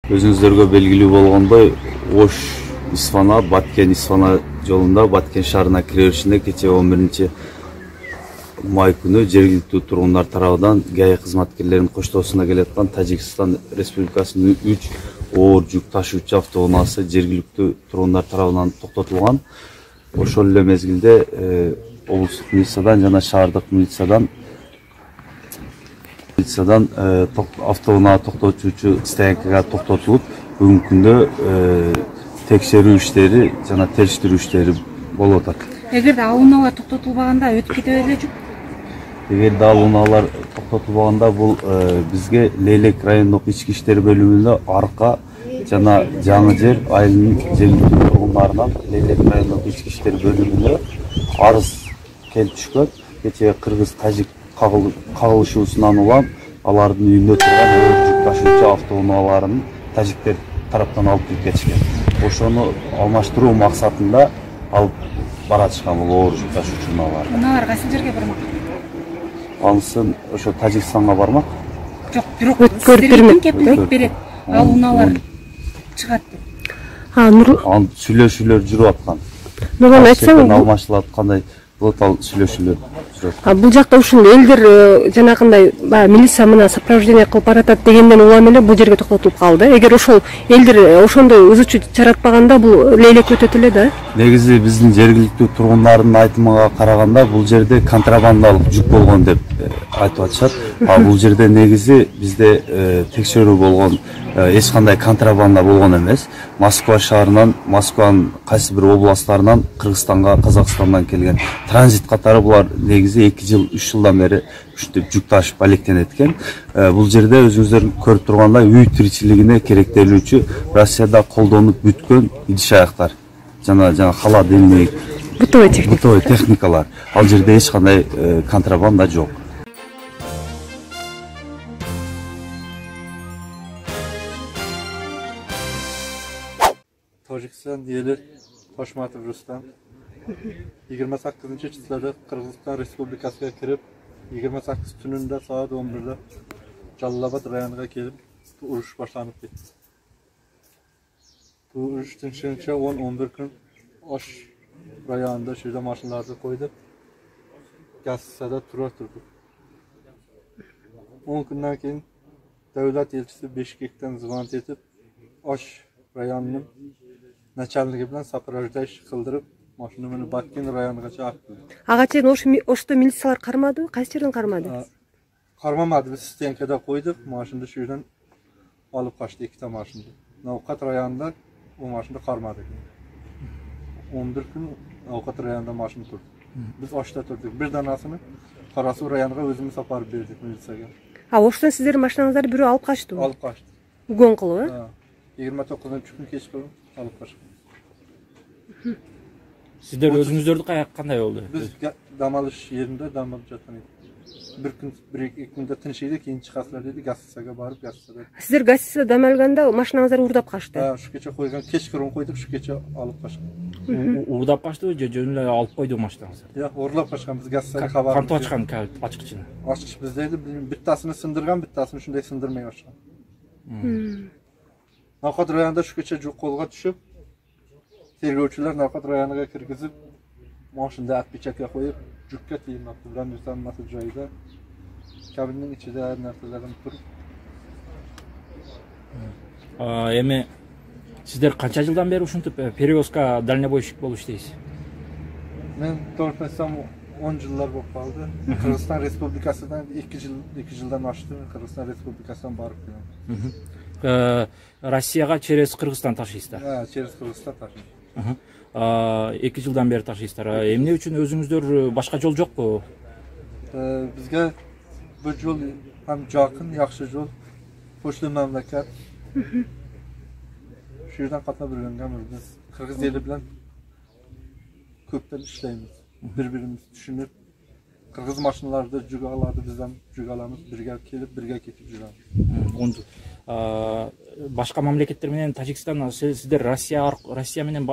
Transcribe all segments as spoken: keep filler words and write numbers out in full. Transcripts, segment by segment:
Өзүңүздөргө белгилүү болгондой, Ош Исфана, Баткен Исфана жолунда Баткен шаарына кире беришинде кечээ он биринчи май күнү жергиликтүү тургундар тарабынан ГАИ кызматкерлеринин коштоосуна келаткан Тажикстан Республикасынын үч оор жүк ташуучу автоунаасы жергиликтүү тургундар тарабынан токтотулган. Ошол эле мезгилде облустук милициядан жана шаардык милициядан милициядан автоунаа токтотуучу стоянкага токтотулуп, бүгүнкү күндө текшерүү иштери жана териштирүү иштери болуп атат. Эгерде ал унаалар токтотулбаганда өтүп кете беле жок? Эгерде ал унаалар токтотулбаганда бул бизге Лейлек райондук ички иштер бөлүмүнө арка жана жаңы жер айылынын жергиликтүү тургундарынан Лейлек райондук ички иштер бөлүмүнө арыз келип түшкөн. Кечээ кыргыз тажик кагылышуусунан улам алардын үйүндө турган жүк ташуучу автоунааларын тажиктер тараптан алып кирип кетишкен. Ошону алмаштыруу максатында алып баратышкан бул оор жүк ташуучу унаалар. Унаалар кайсы жерге бармак? Анысын ошо Тажикстанга бармак. Жок, бирок сиздерге кепилдик берет. Ал унаалар чыгат деп. Анын сүйлөшүүлөр жүрүп аткан. Нурлан айтсаң, алмашылып аткандай болот, ал сүйлөшүүлөр жүрүп. Бул жакта ушул элдер жанагындай милиция менен сопровождение кылып баратат дегенден улам эле бул жерге токтотулуп калды. Эгер ошол элдер ошондой ызычуу чаратпаганда бул лейлек өтөт эле да. Негизи биздин жергиликтүү тургундардын айтымына караганда бул жерде контрабандалык жүк болгон деп айтып атышат. А бул жерде негизи бизде текшерүү болгон эч кандай контрабанда болгон эмес. Москва шаарынан, Москванын кайсы бир областтарынан Кыргызстанга, Казакстандан келген транзит катары булар негизи эки жыл, үч жылдан бери ушинтип жүк ташып алектенет экен. Бул жерде өзүңүздөр көрүп тургандай үй тиричилигине керектелүүчү Россияда колдонуп бүткөн идиш аяктар жана жана холодильник, бытовой техника, бытовой техникалар. Ал жерде эч кандай контрабанда жок. Тажикстан ели Тошматов Рустам yigirma sakkizinchi числода Кыргызстан Республикасына кирип, yigirma sakkiz түнүндө саат он бирде Жалал-Абад районуна келип, уруш башланып кетти. Бул уруш тынчынча он он бир күн Ош районунда шүйдө машиналарды койдуп, Гассада тура турдук. он күндөн кийин Давлат элчиси Бишкектен звонок этип, Ош районунун начальниги менен сопровождающий кылдырып, машина менен Баткен районуна чыгып. Ага чейин Ошто милициялар кармадыбы? Кайсы жерден кармады? Кармамады, биз стенкада койдук, машинаны шүйдөн алып качты эки та машинаны. Навкат районунда бул машинаны кармады. он бир күн Навкат районунда машина турду. Биз Ошто турдук. Бир данасыны Кара Суу районуна өзүбүз апарып бердик милицияга. А Оштон сиздердин машинаңызды бирөө алып качтыбы? Алып качты. Угон кылып, э? yigirma to'qqizinchi күн кечке алып качты. Сиздер өзүңүздөрдү кандай болду? Биз дам алыш жеринде дам алып жаткан едик. Бир күн, бир эки күндө тынчыйды, кийин чыгасыздар деди, Гассага барып, Гассада. Сиздер Гассада дам алганда машинаңыздар уурдап качты. Да, ушу кече койгон, кечкирим койдук, ушу кече алып качкан. Уурдап качтыбы же жөн эле алып койду машинаңызды? Жок, уурлап качкан, биз Гассага кабар. Кантип ачкан ачкычыны? Ачкыч биздеди, биттасыны сындырган, биттасыны ушундай сындырмай ачкан. Навкат районунда ушу кече жок колго түшүп, тергөөчүлөр Навкат районуна киргизип, машинада отпечатка коюп, жүккө тыймапты. Брамюсан насыл жайда, кабиндин ичинде ар нерселерин туруп. Эми сиздер канча жылдан бери ушинтип перевозка дальнобойщик болуп иштейсиз? Мен толук айтсам он жылдар болуп калды. Кыргызстан Республикасынан эки жыл, эки жылдан ашты. Кыргызстан Республикасынан барып келем. Россияга через Кыргызстан ташыйсыздар? Да, через Кыргызстан ташыйм. эки жылдан бери ташыйсыздар. Эмне үчүн өзүңүздөр башка жол жокпу? Бизге бул жол ham жакын, жакшы жол. Почта мамлекет. Şu yerden katına bölüngemiz. Biz Kırgız eli bilen köpten işleyimiz. Birbirimiz düşünüp Kırgız maşınlarda cügalardı bizden cügalarımız birge kelip birge ketip жүрөбүz. Башка мамлекеттер менен Тажикстан сиздер Россия Россия менен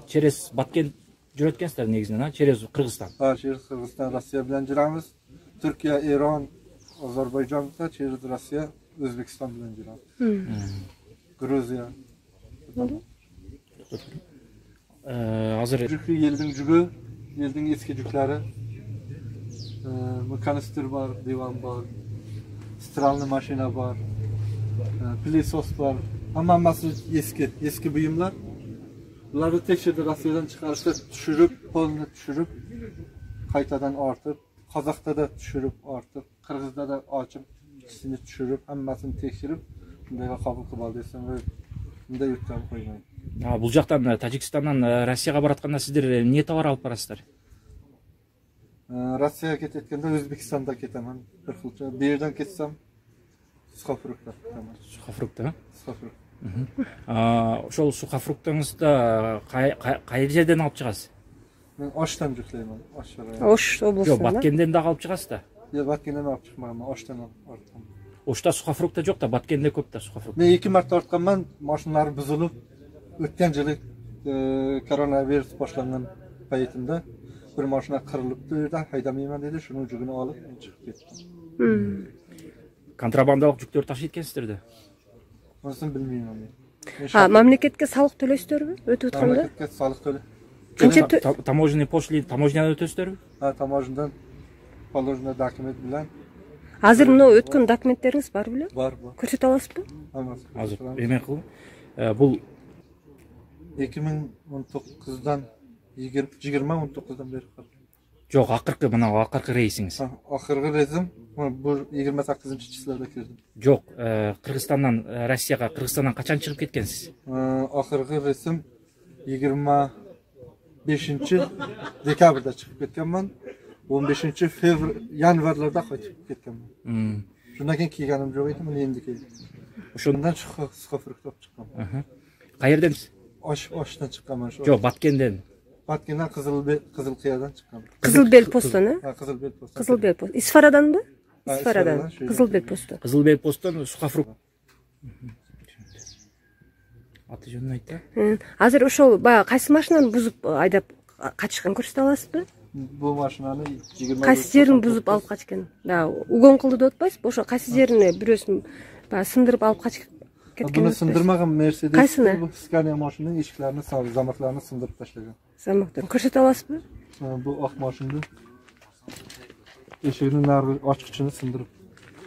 через Баткен жүрөт экенсиздер негизинен, через Кыргызстан. Ha, через Кыргызстан, Россия bilen жүрөбүz. Türkiye, İran, Azerbaycan da через Россия, Özbekistan bilen жүрөбүz. Грузия. Азыр Жүкü елдің жүгі, елдің ескі жүклері. Канистр бар, диван бар, стиральный машина бар, пылесос бар. Hamması eski, eski buyumlar. Bunları tekşirdi Rusya'dan çıkarışta düşürüp, polunu düşürüp, kaytadan artıp, Kazak'ta da düşürüp artıp, Kırgız'da da açıp, ikisini düşürüp, hammasını tekşirip, bundayga kabul kılıp aldıysan ve bunday yurttan koymayın. Бул жактан Тажикстандан Россияга баратканда сиздер эмне товар алып барасыздар? Rossiyaga ketetkende O'zbekistonda ketaman. Bir xilcha. Bu yerdan ketsam сухофруктlar ketaman. Сухофрукт, а? Сухофрукт. Ошол сухофруктуңузду кай жерден алып чыгасыз? Men Oshdan жүклеймін. Osh rayoni. Ош Жок, облусунда. Баткенден дагы алып чыгасыз да. Yo, Batkenden olib chiqmayman, Oshdan ortqam. Ошто сухофрукта жок да, Баткенде көп да сухофрукт. Men ikki marta ortqanman, mashinalari buzilib, o'tgan yili koronavirus boshlangan paytimda bir mashina qirilibdi, yerda haydamayman dedi, shuning jugini olib men chiqib ketdim. Контрабандалык жүктөр ташыйт экенсиздер да. Unisini bilmayman men. А, мамлекетке салык төлөйсүздөрбү өтүп атканда? Mamlakatga soliq to'la. Канча тө- Та- Таможенный пошлин, таможнядан өтөсүздөрбү? Ha, tamojidan положено dokument bilan Азыр мына өткөн документтериңиз бар беле? bor, bor. Көрсөтө аласызбы? Hammasi. Азыр эме кыл. Бул ikki ming o'n to'qqizdan yigirma o'n to'qqizdan beri qildim. жок, акыркы мына акыркы рейсиңиз. Ha, oxirgi reizim bu yigirma sakkizinchi числоda kirdim. Жок, Кыргызстандан Россияга, Кыргызстандан качан чыгып кеткенсиz? Oxirgi reizim yigirma beshinchi dekabrda chiqib ketganman. o'n beshinchi fevr yanvarlarda qaytib ketganman. Shundan keyin kiyganim yo'q edi, men endi keldim. O'shandan sухофрукт olib chiqqanman. Qayerdansiz? Osh oshdan chiqqanman shu. Жок, Баткенден. Batkendan Qizil Qizilqiyadan chiqqanman. Кызылбел постуна? Ha, Qizilbel post. Кызылбел пост. Исфараданбы? Ha, Исфарадан. Исфарадан, şu- Кызылбел посту. Кызылбел посттон сухофрукт. Аты жөнүн айт да. Азыр ошол баягы кайсы машинаны бузуп айдап качкан көрсөтө аласызбы? Bu mashinani yigirma Кайсы жерин бузуп алып качкан? Да, угон кылды деп атпайсызбы? Ошо кайсы жерине бирөөсүн баягы сындырып алып качып кеткен. Buni sindirmagan Mercedes Qaysini? bu Scania mashinasining eshiklarini, zamoklarini sindirib tashlagan. Замоктон көрсөтө аласызбы? Bu oq mashinani eshigini narigi ochqichini sindirib.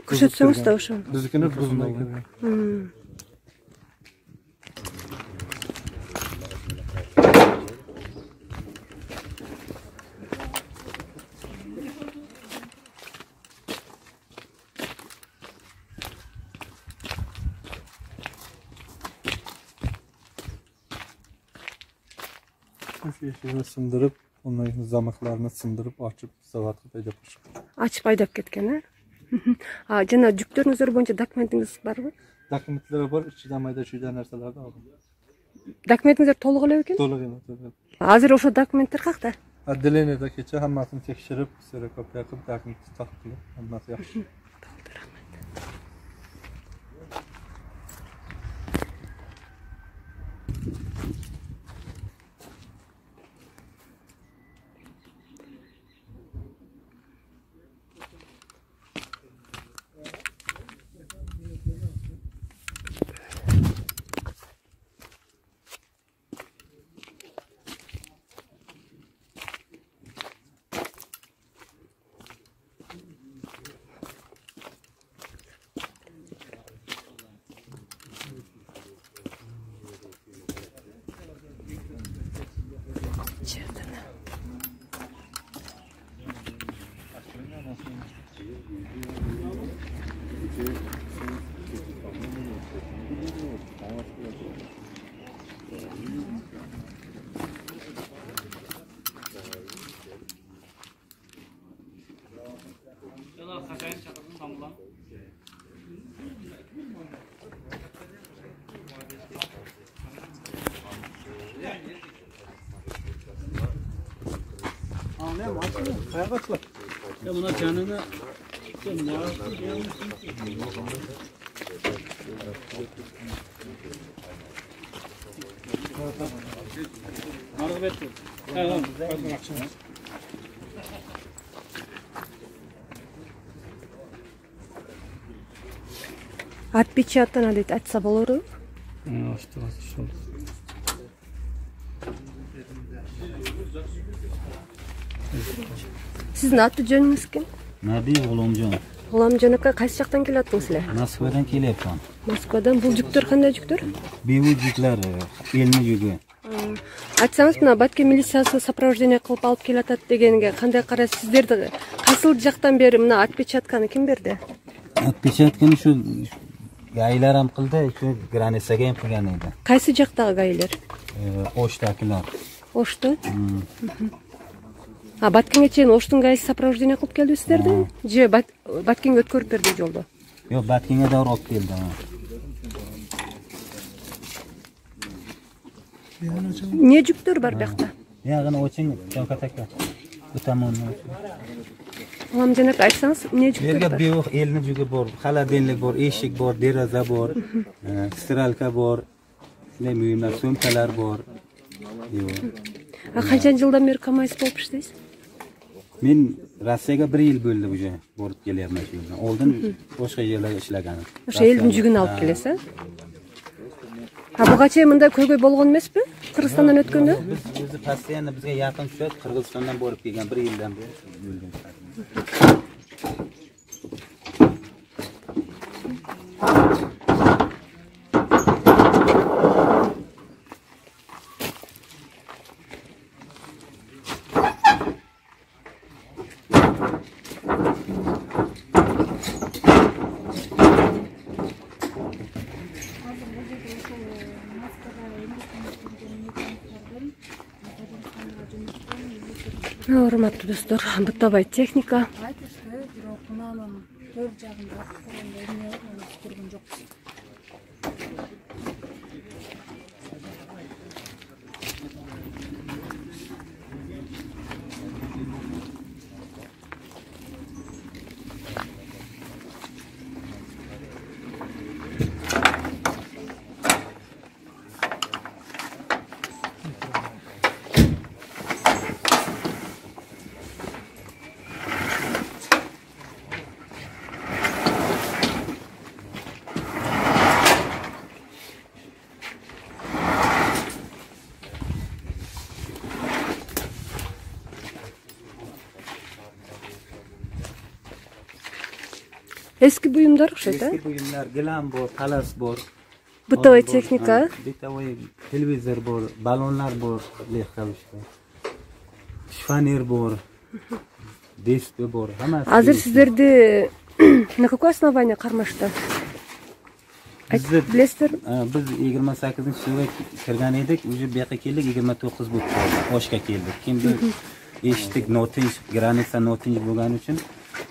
Көрсөтсөңүз да ошо. Biznikini buzmay kirgan. Şu eshigini sindirib, ondan keyin zamoklarini sindirib, ochib, zavodga haydab chiqib. Ачып айдап кеткен, э? А, жана жүктөрүңүздөр боюнча документиңиз барбы? Dokumentlari bor, ichidan mayda-chuyda narsalarni oldim. Документиңиздер толук эле экен? To'liq emas, to'liq. Азыр ошо документтер какта? Отделениеда kecha hammasini tekshirib, kserokopiya qilib, dokumentni taqib qilib, hammasi yaxshi. Qayoqqa chiqib? Ya buna canını Marıp etti. Tamam. Отпечатано дейт, айтса болору? Сиздин аты жөнүңүз ким? Наби Улумжон. Улумжон ака, кайсы жактан келатсыңыз эле? Москвадан келипмин. Москвадан. Бул жүктөр кандай жүктөр? Бейбут жүклөр, элме жүгү. Айтсаңыз, мына Баткен милициясы сопровождение кылып алып келатат дегенге кандай карайсыз? Сиздерди кайсыл жактан бери мына отпечатканы ким берди? Отпечатканы ушу гайларам кылды, ушу границага эм кылган эди. Кайсы жактагы гайлер? Оштакылар. Ошто? А Баткенге чейин Оштун гайсы сопровождение кылып келди сиздерди? Же Баткенге өткөрүп берди жолдо? Жок, Баткенге да алып келди. Эмне жүктөр бар биякта? Ягына очень чоңкатака. Утамон. Улумжон ака, айтсаңыз, эмне жүктөр Жерге бар? бейук элме жүгү бар, холодильник бар, эшик бар, дераза бар, стиралка бар, ушундай буюмдар, сумкалар бар. А канча жылдан бери КамАЗ болуп иштейсиз? Мен Россияга bir yil bo'ldi уже borib kelyapman shu yerdan. Oldin boshqa yerlarda ishlaganim. O'sha elдин жүгүн алып келесиз, а? А буга чейин мындай көйгөй болгон эмеспи? Кыргызстандан өткөндө? Biz o'zi постоянно bizga yaqin tushadi, Qirg'izistondan borib kelgan bir yildan beri bo'lgan. Урматтуу достор, бытабай техника. Айтышты, бирок мынанын төр жагында эмне көргөн жокпуз. Eski buyumlar окшойт, а? Eski buyumlar, gilam bor, talas bor. Бытовой техника. Бытовой televizor bor, balonlar bor, lehkavishda. Shifonier bor. Диск bor, hammasi. Азыр сиздерди на какое основание кармашты? Билесиздер? Biz yigirma sakkizinchi yilda kirgan edik, уже bu yoqqa keldik, yigirma to'qqiz bo'lib qoldi. Oshga keldik. Kimdi eshitdik, notinch, granitsa notinch bo'lgani uchun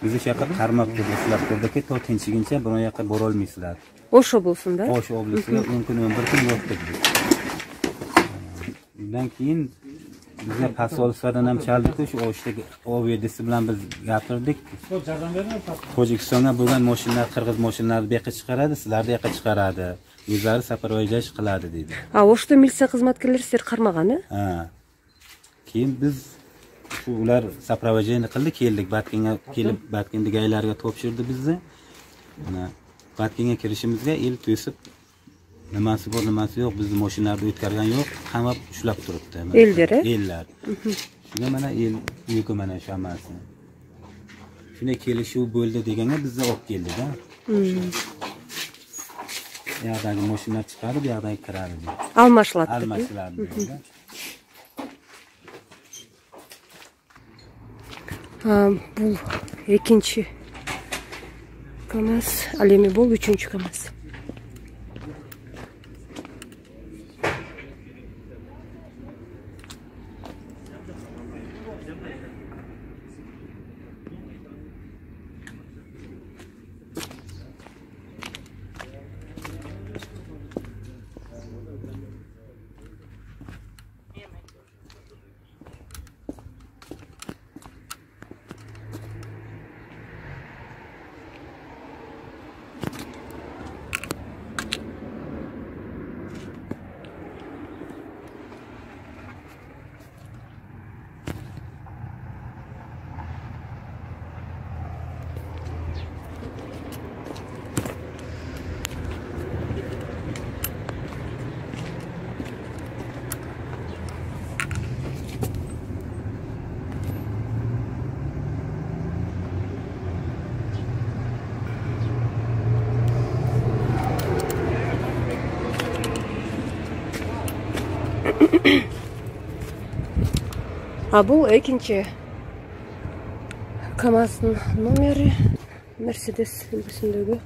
bizni shu yoqqa qarmab turdi, sizlar turdiki, to tinchligincha bu yoqqa bora olmaysizlar. Osh облусунда? Osh oblasiga o'n kun o'n bir kun yo'qdik biz. Undan keyin bizga posolstvodan ham chaldik-ku, shu Oshdagi ovedisi bilan biz gapirdik. Tojikistonga bo'lgan mashinalar, qirg'iz mashinalari bu yoqqa chiqaradi, sizlarni yoqqa chiqaradi. O'zlari safarvajlash qiladi dedi. А Ошто милиция кызматкерлери сиздерди кармаганы? Ha. Keyin biz shu ular sapravajeni qildi, keldik, Batkenga kelib, Batkendagi aylarga topshirdi bizni. Mana Batkenga kirishimizga el to'sib, nimasi bor, nimasi yo'q, bizni mashinalarni o'tkargan yo'q, qamab ushlab turibdi. Ellar, Ellar. Shunga mana el yuki mana shu hammasi. Shunday kelishuv bo'ldi deganga bizni olib keldi-da. Bu yoqdagi mashinalar chiqarib, bu yoqdagi kiradi. Almashiladi. Almashiladi. Бул экинчи КамАЗ, ал эми бул үчүнчү КамАЗ. А бул экинчи КамАЗдын номери, Мерседес үлгүсүндөгү.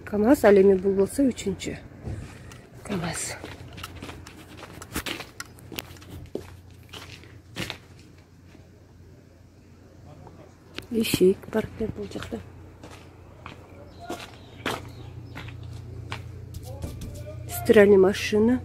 КамАЗ, ал эми бул болсо үчүнчү КамАЗ. Ишик бар бул жакта. Стиральный машина.